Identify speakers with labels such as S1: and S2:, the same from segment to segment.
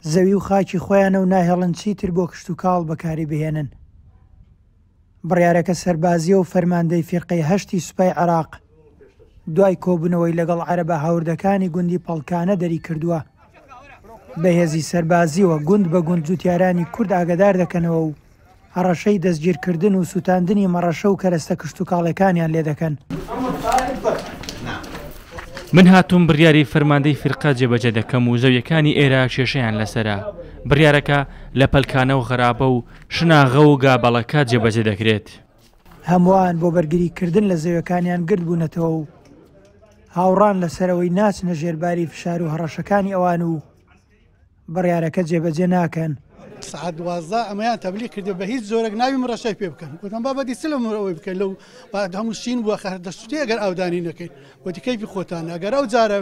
S1: زەوی و خاکی خۆیانە و ناهێڵن چیتر بۆ کشتوکاڵ بەکاری بهێنن. بڕیارەکە سەربازییە و فەرماندەی فیرقەی هەشتی سوپای عێراق دوای کۆبوونەوەی لەگەڵ عەرەبە هاوردەکانی گوندی پەڵکانە دەریکردووە. بە هێزی سەربازییەوە گوند بە گوند جوتیارانی کورد ئاگادار دەکەنەوە و هەڕەشەی دەستگیرکردن و سوتاندنی مەڕەشە و کەرەستە کشتوکاڵیەکانیان لێدەکەن.
S2: من هاتووم بڕیاری فەرماندەی فیرقە جێبەجێ دەکەم و زەویەکانی ئێرە کێشەیان لەسەرە، بڕیارەکە لە پەلکانە و غەرابە و شناغە و گابەڵەکە جێبەجێ دەکرێت.
S1: هەمووان بۆ بەرگریکردن لە زەویەکانیان گردبوونەتەوە و هاوڕان لەسەر ئەوەی ناچنە ژێر باری فشار و هەڕەشەکانی ئەوان و بڕیارەکە جێبەجێ ناکەن.
S3: سەعات 12 ئەمەیان تەبلیغ کردو بە هیچ جۆرێک ناوی مڕەشای پێ بکەن. گوتم بابە دی چ لە ئەوەی بکەن لەو هەموو شین بووە خەر دەستوتێ ئەگەر ئاودانی نەکەین. گوتی کەیفی خۆتانە ئەگەر ئەو جارە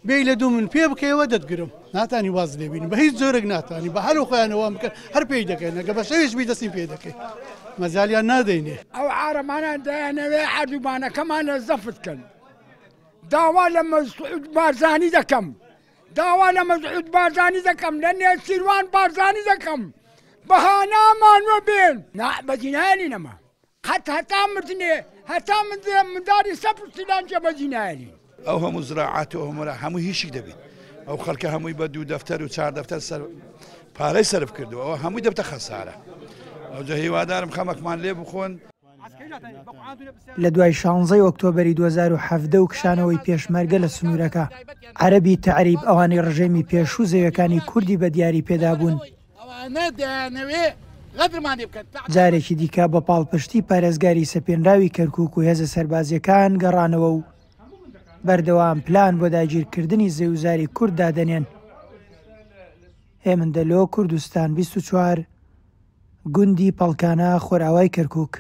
S3: بێی لە دوو من پێ بکەیەوە دەتگرم. ناتانی واز لێ بینم بە هیچ جۆرێک ناتانی بە هەر خۆیان وام بکەن هەر پێی دەکەن ئەگەر بە شەویش بی دەستین پێ دەکەین مەجالیان نادەینێ.
S4: ئەو عارەبانە دەیانەوێ عەردوبانەکەمان لە زەفت کەن. داوا لە مەسعود بارزانی دەکەم داوا لە مەسعود بارزانی دەکەم لە نێچیروان بارزانی دەکەم بە هانامانوە بێن نا بەجی نایەنین ئەمە قەت هەتا مردنێ هەتا منداڵی سەفر سیلان جێ بەجی نایەنین.
S5: ئەو هەموو زراعات و هەموو هەموو هیچی دەبیت ئەو خەڵکە هەمووی بە دوو دەفتەر و چار دەفتەر سەر پارەی سەرف کردووە ئەوە هەمووی دەبتە خەسارە ئەوجا هیوادارم خەمەکمان لێ بخۆن.
S1: لە دوای شانزەی ئۆکتۆبەری 2017 و کشانەوەی پێشمەرگە لە سنوورەکە، عەرەبی تەعریب ئەوانەی ڕژێمی پێشوو زەویەکانی کوردی بە دیاری پێدابوون، جارێکی دیکە بە پاڵپشتی پارێزگاری سەپێنراوی کەرکووک و هێزە سەربازییەکان گەڕانەوە و بەردەوام پلان بۆ داگیرکردنی زەویوزاری کورد دادەنێن. هێمن دەلۆ، کوردستان 24، گوندی پەڵکانە، خۆرئاوای کەرکووک.